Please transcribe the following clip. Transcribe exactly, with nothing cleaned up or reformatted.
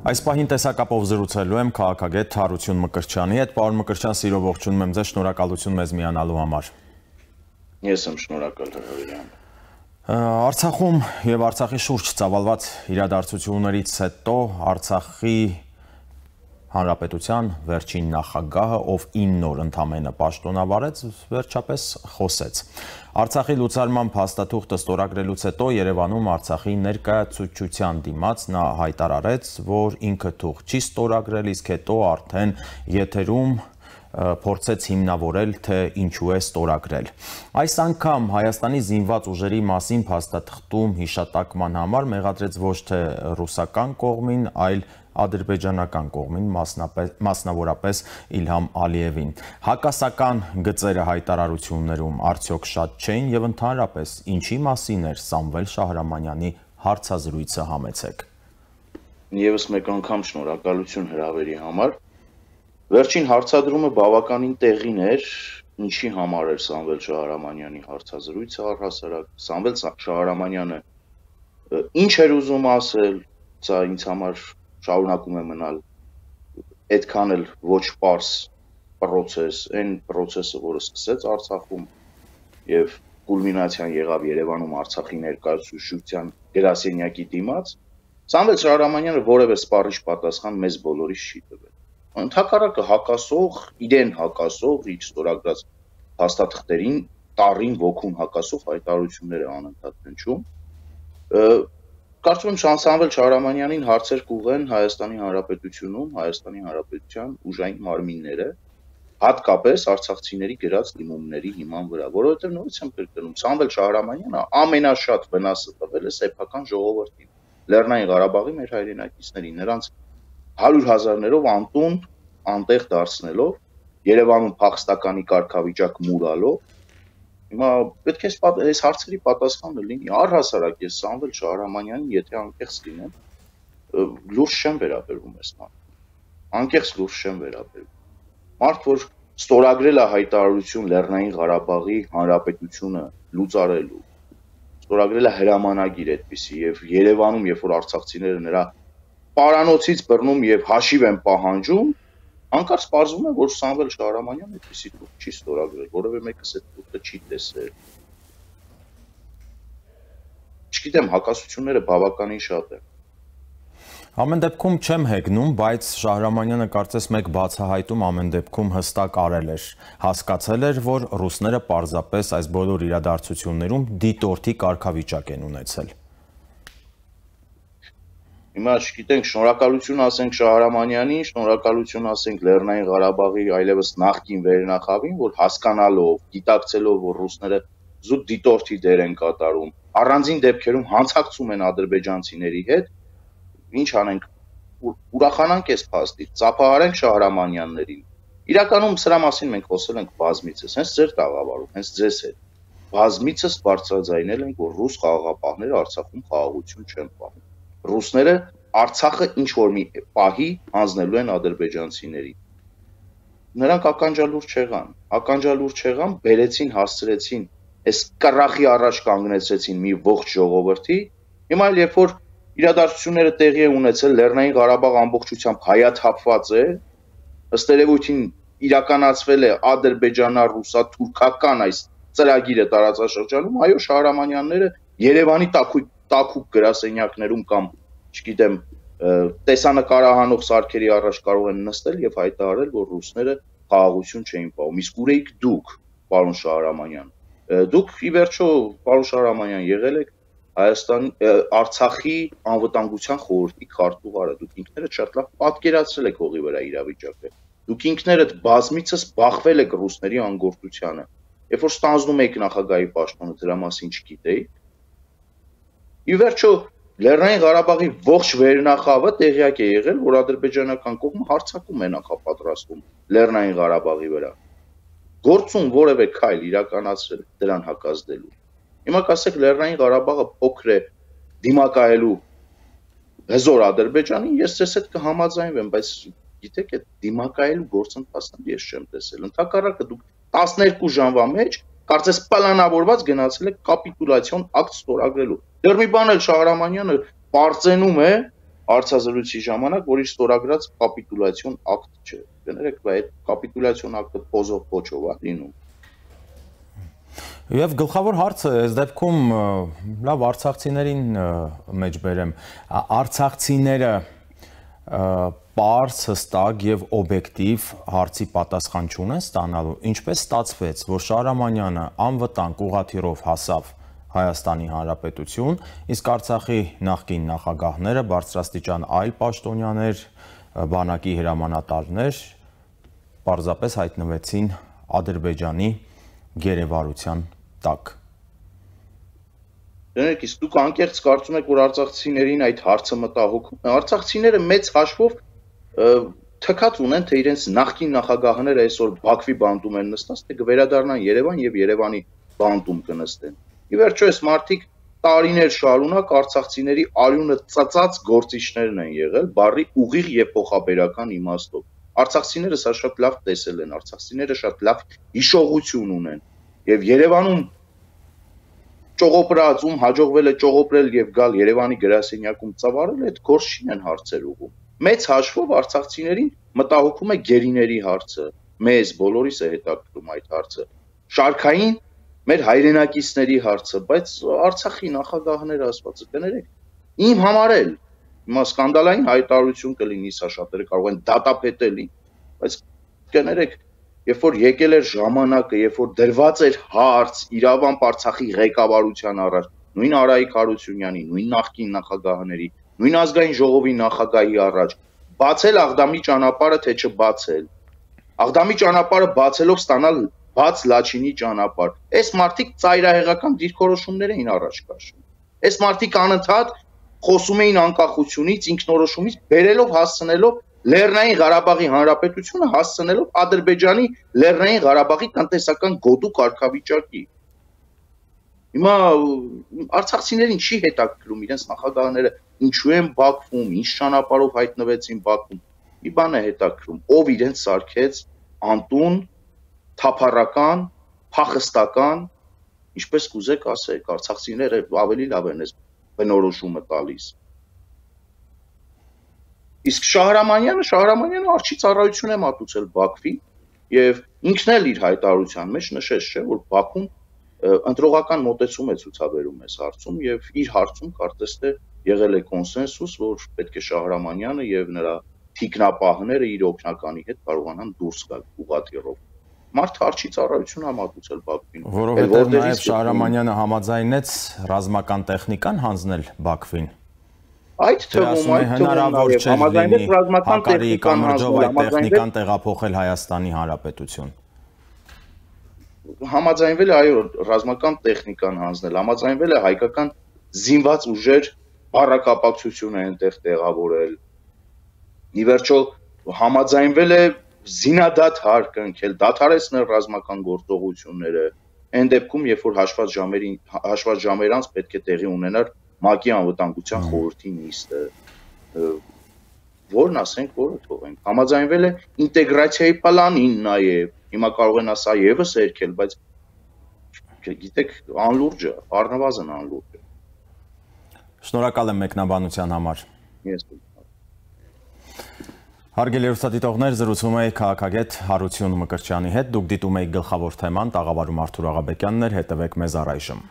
Այս պահին տեսակապով զրուցելու եմ քաղաքագետ Հարություն Մկրտչյանի հետ։ Պարոն Մկրտչյան, սիրով ողջունում եմ ձեզ, շնորհակալություն մեզ միանալու համար։ Ես եմ շնորհակալ հրավերի համար։ Արցախում եւ Արցախի շուրջ ծավալված իրադարձություններից հետո Արցախի Հանրապետության վերջին նախագահը, ով ինը օր ընդամենը պաշտոնավարեց, վերջապես խոսեց։ Արցախի լուծարման փաստաթուղթը ստորագրելուց հետո Երևանում Արցախի ներկայացուցչության դիմաց նա հայտարարեց, որ ինքը թուղթ չի ստորագրել, իսկ հետո արդեն եթերում փորձեց հիմնավորել, թե ինչու է ստորագրել։ Այս անգամ Հայաստանի զինված ուժերի մասին փաստաթղթում հիշատակման համար մեղադրեց ոչ թե ռուսական կողմին, այլ ադրբեջանական կողմին, մասնավորապես Իլհամ Ալիևին։ Հակասական գծերը հայտարարություններում արդյոք շատ չէին եւ ընդհանրապես ինչի մասին էր Սամվել Շահրամանյանի հարցազրույցը, համեցեք։ Եվս մեկ անգամ շնորհակալություն հրավերի համար։ Վերջին հարցադրումը բավականին տեղին էր, ինչի համար էր Սամվել Շահրամանյանի հարցազրույցը առհասարակ։ Սամվել Շահրամանյանը ինչ էր ուզում ասել, սա ինձ համար շարունակում է մնալ այդքան էլ ոչ պարզ պրոցես, այն պրոցեսը, որը սկսեց Արցախում եւ կուլմինացիան եղավ Երևանում Արցախի ներկայացուցչության գրասենյակի դիմաց, Սամվել Շահրամանյանը որևէ սպառիչ պատասխան մեզ բոլորիս չի տվել։ Ընդհակառակը հակասող, իրեն հակասող, իր ստորագրած փաստաթղթերին, տառին ոգուն հակասող հայտարարություններ է անընդհատ հնչում։ Կարծում եմ Սամվել Շահրամանյանին հարցեր կուղեն Հայաստանի Հանրապետությունում, Հայաստանի Հանրապետության ուժային մարմինները, հատկապես արցախցիների գրած դիմումների հիման վրա, որովհետև նորից եմ կրկնում, Սամվել Շահրամանյանը ամենաշատ վնասը տվել է սեփական ժողովրդին, Լեռնային Ղարաբաղի մեր հայրենակիցներին, նրանց հարյուր հազարներով անտուն, անտեղ դարձնելով, Երևանում փախստականի կարգավիճակ մուրալով, հիմա պետք է այս հարցերի պատասխանը լինի, առհասարակ ես Սամվել Շահրամանյանին, եթե անկեղծ լինեմ, լուրջ չեմ վերաբերվում այս մարդուն, անկեղծ լուրջ չեմ վերաբերվում, մարդ, որ ստորագրել է հայտարարություն Լեռնային Ղարաբաղի Հանրապետությունը լուծարելու, ստորագրել է հրամանագիր այդպիսի եւ Երևանում, երբ որ արցախցիները նրա պարանոցից բռնում եւ հաշիվ են պահանջում, անկարծ պարզվում է, որ Սամվել Շահրամանյանը այդպիսի թուղթ չի ստորագրել, որովհետեւ մեկս այդ թուղթը չի տեսել։ Չգիտեմ, հակասությունները բավականին շատ են։ Ամեն դեպքում չեմ հեգնում, բայց Շահրամանյանը կարծես մեկ բացահայտում ամեն դեպքում հստակ արել էր, հասկացել էր, որ ռուսները պարզապես այս բոլոր իրադարձություններում դիտորդի կարգավիճակ են ունեցել։ Հիմա չգիտենք, շնորհակալություն ասենք Շահրամանյանին, շնորհակալություն ասենք Լեռնային Ղարաբաղի այլևս նախկին վերնախավին, որ հասկանալով, գիտակցելով, որ ռուսները զուտ դիտորդի դեր են կատարում, առանձին դեպքերում հանցակցում են ադրբեջանցիների հետ, ինչ անենք, ուրախանանք այս փաստից, ծափահարենք Շահրամանյաններին։ Իրականում սրա մասին մենք խոսել ենք բազմիցս, հենց ձեր տաղավարում, հենց ձեզ հետ։ Բազմիցս բարձրաձայնել ենք, որ ռուս խաղաղապահները Արցախում խաղաղություն չեն պահում։ Ռուսները Արցախը ինչ որ մի պահի հանձնելու են ադրբեջանցիներին։ Նրանք ականջալուր չեղան, ականջալուր չեղան, բերեցին, հասցրեցին, այս կռախի առաջ կանգնեցրեցին մի ողջ ժողովրդի։ Հիմա էլ երբ որ իրադարձությունները տեղի է ունեցել, Լեռնային Ղարաբաղ ամբողջությամբ հայաթափված է, ըստ երևույթին իրականացվել է ադրբեջանա-ռուսա-թուրքական այս ծրագիրը տարածաշրջանում, այո, Շահրամանյանները Երևանի տաքույկ տաքուկ գրասենյակներում կամ, չգիտեմ, տեսանկարահանող սարքերի առաջ կարող են նստել եւ հայտարարել, որ ռուսները խաղաղություն չէին պահում։ Իսկ ուր եք դուք, պարոն Շահրամանյան։ Դուք ի վերջո, պարոն Շահրամանյան, եղել եք Հայաստանի Արցախի անվտանգության խորհրդի քարտուղարը, դուք ինքներդ շատ լավ պատկերացրել եք հողի վրա իրավիճակը։ Դուք ինքներդ բազմիցս բախվել եք ռուսների անգործությանը։ Երբ որ ստանձնում եք նախագահի պաշտոնը, դրա մասին չգիտեիք։ Ի վերջո Լեռնային Ղարաբաղի ողջ վերնախավը տեղյակ է եղել, որ ադրբեջանական կողմը հարձակում է նախապատրաստում Լեռնային Ղարաբաղի վրա։ Գործում որևէ քայլ իրականացրել դրան հակազդելու։ Հիմա կասեք Լեռնային Ղարաբաղը փոքր է դիմակայելու հզոր Ադրբեջանին, ես ձեզ հետ կհամաձայնվեմ, բայց գիտեք, այդ դիմակայելու գործընթացն ես չեմ տեսել։ Ընդհակառակը դուք տասներկու ժամվա մեջ կարծես պլանավորված գնացել եք կապիտուլյացիոն ակտ ստորագրելու։ Դեռ մի բան էլ Շահրամանյանը պարծենում է, հարցազրույցի ժամանակ, որ իր ստորագրած կապիտուլյացիոն ակտ չէ։ Կներեք, այդ կապիտուլյացիոն ակտը փոզով փոչով է լինում։ Եվ գլխավոր հարցը այս դեպքում լավ արցախցիներին մեջ բերեմ, արցախցիները պարզ, հստակ եւ օբյեկտիվ հարցի պատասխան չունեն ստանալու, ինչպես ստացվեց, որ Շահրամանյանը անվտանգ ուղղաթիռով հասավ Հայաստանի Հանրապետություն, իսկ Արցախի նախկին նախագահները, բարձրաստիճան այլ պաշտոնյաներ, բանակի հրամանատարներ պարզապես հայտնվեցին Ադրբեջանի գերեվարության տակ։ Դրանք իսկ դուք անկեղծ կարծում եք, որ արցախցիներին այդ հարցը մտահոգում է։ Արցախցիները մեծ հաշվով թքած ունեն, թե իրենց նախկին նախագահները այսօր Բաքվի բանտում են նստած, թե կվերադառնան Երևան եւ Երևանի բանտում կնստեն։ Ի վերջո այս մարդիկ տարիներ շարունակ արցախցիների արյունը ծածած գործիչներն են եղել, բառի ուղիղ եւ փոխաբերական իմաստով։ Արցախցիները սա շատ լավ տեսել են, արցախցիները շատ լավ հիշողություն ունեն եւ Երևանում ճողոպրած, ում հաջողվել է ճողոպրել եւ գալ Երևանի գրասենյակում ծավալել, այդ գործ չին հարցեր ուղում։ Մեծ հաշվով արցախցիներին մտահոգում է գերիների հարցը, մեզ բոլորիս է հետաքրքրում այդ հարցը։ Շարքային մեր հայրենակիցների հարցը, բայց Արցախի նախագահները ասվածը կներեք, իմ համար էլ հիմա սկանդալային հայտարարություն կլինի, սա շատերը կարող են դատապետել, բայց կներեք, երբ որ եկել էր ժամանակը, երբ որ դրված էր հարց իրավամբ Արցախի ղեկավարության առաջ, նույն Արայիկ Հարությունյանի, նույն նախկին նախագահների, նույն ազգային ժողովի նախագահի առաջ, բացել Աղդամի ճանապարհը, թե չբացել, Աղդամի ճանապարհը բացելով ստանալ բաց Լաչինի ճանապարհ, այս մարդիկ ծայրահեղական դիրքորոշումներ էին առաջ քաշում, այս մարդիկ անընդհատ խոսում էին անկախությունից, ինքնորոշումից, բերելով հասցնելով Լեռնային Ղարաբաղի Հանրապետությունը հասցնելով Ադրբեջանի Լեռնային Ղարաբաղի տնտեսական գոտու կարգավիճակի։ Հիմա արցախցիներին չի հետաքրքրում իրենց նախագահները ինչու են Բաքվում, ինչ ճանապարհով հայտնվեցին Բաքվում։ Մի բան է հետաքրքրում, ով իրենց սարքեց անտուն, թափառական, փախստական, ինչպես կուզեք ասեք, արցախցիները ավելի լավ են այս բնորոշումը տալիս։ Իսկ Շահրամանյանը, Շահրամանյանը արջի ծառայություն է մատուցել Բաքվի եւ ինքն էլ իր հայտարարության մեջ նշեց, չէ, որ Բաքուն ընտրողական մոտեցում է ցուցաբերում այս հարցում եւ իր հարցում կարծես թե եղել է կոնսենսուս, որ պետք է Շահրամանյանը եւ նրա թիկնապահները իր օգնականի հետ կարողանան դուրս գալ ուղղաթիռով։ Մարդ արջի ծառայություն է մատուցել Բաքվին։ Որովհետեւ նաեւ Շահրամանյանը համաձայնեց ռազմական տեխնիկան հանձնել Բաքվին։ Այդ թվում այդ հնարավոր չէ համաձայնվել ռազմական տեխնիկան հանձնել, տեխնիկան տեղափոխել Հայաստանի Հանրապետություն։ Համաձայնվել է այո ռազմական տեխնիկան հանձնել, համաձայնվել է հայկական զինված ուժեր բառակապակցությունը այնտեղ տեղավորել։ Ի վերջո համաձայնվել է զինադատ հարկընկել, դադարեցնել ռազմական գործողությունները, այն դեպքում, երբ որ հաշված ժամերին հաշված ժամերանց պետք է տեղի ունենար ՄԱԿ-ի անվտանգության խորհրդի նիստը, որն ասենք, որը թողենք, համաձայնվել է ինտեգրացիայի պլանին նաև, հիմա կարող են ասա եւս երկել, բայց գիտեք, անլուրջ է, առնվազն անլուրջ է։ Շնորհակալ եմ մեկնաբանության համար։ Ես Հարգելի հեռուստադիտողներ, զրուցում էի քաղաքագետ Հարություն Մկրտչյանի հետ, դուք դիտում եք գլխավոր թեման, տաղավարում Արթուր Աղաբեկյանն էր, հետևեք մեզ առայժմ։